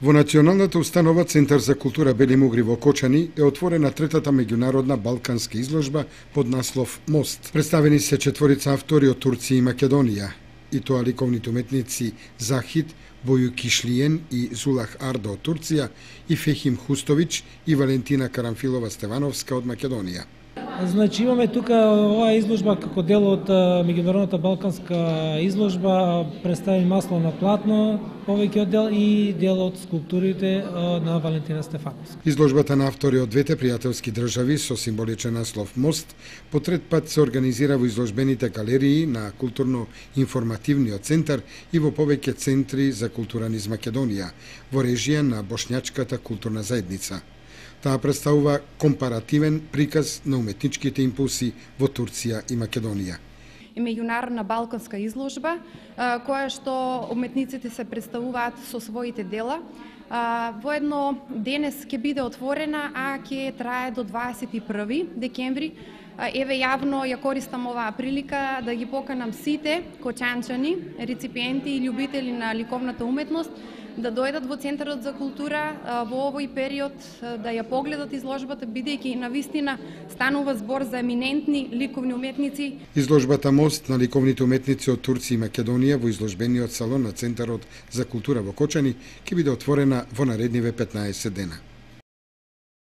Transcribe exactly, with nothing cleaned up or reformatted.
Во Националната установа Центар за култура Бели Мугри во Кочани е отворена третата меѓународна балканска изложба под наслов Мост. Представени се четворица автори од Турција и Македонија, и тоа ликовните уметници Захид Бојукишлиен и Зулах Арда од Турција и Фехим Хустович и Валентина Карамфилова Стевановска од Македонија. Значи имаме тука оваа изложба како дел од меѓународната балканска изложба, представени масло на платно, повеќе од дел и дел од скулптурите на Валентина Стефановска. Изложбата на автори од двете пријателски држави со символичен наслов Мост по трет пат се организира во изложбените галерии на културно-информативниот центар и во повеќе центри за култура низ Македонија, во режија на Бошњачката културна заедница. Таа представува компаративен приказ на уметничките импулси во Турција и Македонија. Е меѓународна балканска изложба, која што уметниците се представуваат со своите дела. Воедно денес ќе биде отворена, а ќе трае до дваесет и први декември. Еве јавно ја користам оваа прилика да ги поканам сите кочанчани, реципиенти и љубители на ликовната уметност да дојдат во Центарот за култура во овој период, да ја погледат изложбата, бидејќи навистина станува збор за еминентни ликовни уметници. Изложбата Мост на ликовните уметници од Турција и Македонија во изложбениот салон на Центарот за култура во Кочани ќе биде отворена во наредниве петнаесет дена.